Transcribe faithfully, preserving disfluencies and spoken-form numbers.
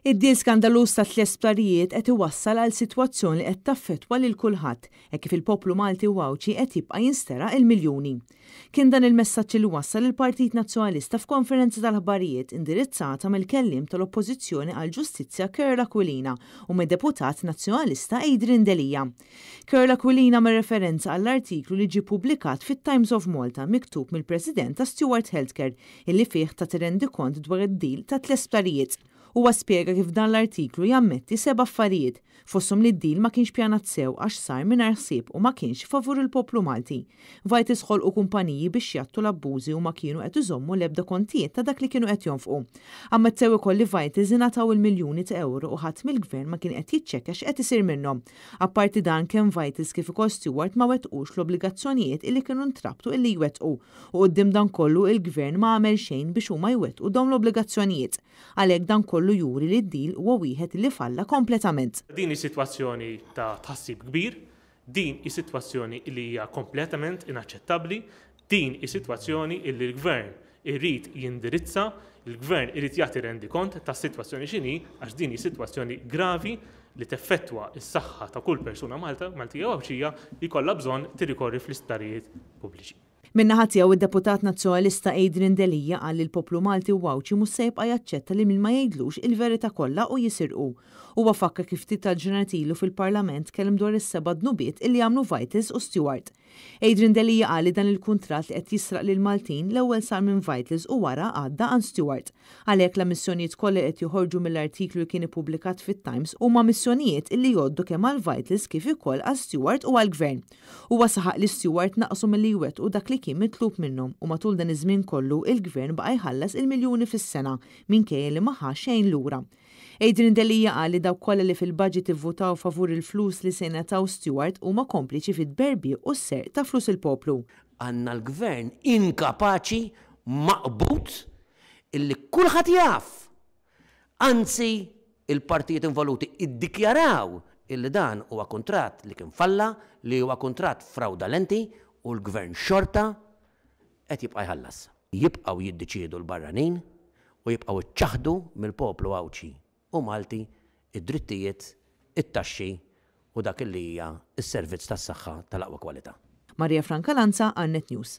Id-deal skandaluż ta' tliet sptarijiet qed iwassal għal sitwazzjoni li qed taffettwa lil kulħadd, hekk kif il-poplu Malti u Għawdxi qed jibqa' jinsteraq il-miljuni. Kien dan il-messaġġ li wassal il-Partit Nazzjonalista f'konferenza tal-aħbarijiet indirizzata mill-kelliem tal-Oppożizzjoni għall-Ġustizzja Karol Aquilina u mid-deputat Nazzjonalista Adrian Delia. Karol Aquilina għamel referenza għall-artiklu li ġie pubblikat fit-Times of Malta miktub mill-President ta' Steward Healthcare, illi fih ta rendikont dwar id-deal ta' tliet sptarijiet. Huwa spjega kif dan l-artiklu jammetti seba' affarijiet, fosthom li d-deal ma kienx pjanat sew għax sar mingħajr ħsieb u ma kienx favur il-poplu Malti. Vitals ħolqu kumpaniji biex jgħattu l-abbużi u ma kienu qed iżommu l-ebda kontijiet ta' dak li kienu qed jonfqu. Ammettew ukoll li Vitals ingħataw il-miljuni ta' euro u ħadd mill-gvern ma kien qed jiċċekkja x'qed isir minnhom. Apparti dan, kemm Vitals kif ukoll Steward ma wettqux l-obbligazzjonijiet illi kienu ntrabtu illi jwettqu, u quddiem dan kollu il-gvern ma għamel xejn biex huma jwettqu dawn l-obbligazzjonijiet. Għalhekk dan kollu juri li d-deal huwa wieħed li falla kompletament. Din is-sitwazzjoni ta' tħassib kbir, din is-sitwazzjoni li hija kompletament inaċċettabbli, din is-sitwazzjoni li l-gvern irid jindirizza, il-gvern irid jagħti rendikont tas-sitwazzjoni x'inhi, għax din hi sitwazzjoni gravi li teffettwa s-saħħa ta' kull persuna Malta, Maltija u Għawdxija li kollha bżonn tirrikorri fl-isptarijiet pubbliċi. Min-naħa tiegħu, id-deputat Nazzjonalista Adrian Delia qal li l-poplu Malti u Għawdxi mhux se jibqa' jaċċetta li min ma jgħidlux il-verità kollha u jisirqu. Huwa fakkar kif ftit tal-ġranet ilu fil-Parlament kellem dwar is-seba' dnubiet illi għamlu Vitals u Steward. Adrian Delia qal li dan il-kuntratt li qed jisraq lil Maltin l-ewwel sar minn Vitals u wara għadda għand Steward. Għalhekk l-ammissjonijiet kollha qed joħorġu mill-artiklu li kien ippubblikat fit-Times huma ammissjonijiet illi jgħoddu kemm għal Vitals kif ukoll għal Steward u għall-Gvern. Huwa saħaq li Steward naqsu milli jwettqu dak li kien mitlub minnhom u matul dan iż-żmien kollu il-Gvern baqa' jħallas il-miljuni fis-sena minkejja li ma ħa xejn lura. Adrian Delia qal li dawk kollha li fil-budget ivvutaw favur il-flus li se jingħataw Steward huma kompliċi fit-tberbiq u s-serq ta' flus il-poplu. Għandna l-gvern inkapaċi, maqbut, illi kulħadd jaf. Anzi, il-partijiet involuti iddikjaraw illi dan huwa kuntratt li kien falla, li huwa kuntratt fraudalenti, u l-gvern xorta qed jibqa' jħallas. Jibqgħu jiddeċiedu l-barranin u jibqgħu iċaħdu mill-poplu Għawdxi u Malti id-drittijiet, it-taxxi u dak li hija s-servizz tas-saħħa tal-aqwa kwalità. Maria Franca Lanza, Net News.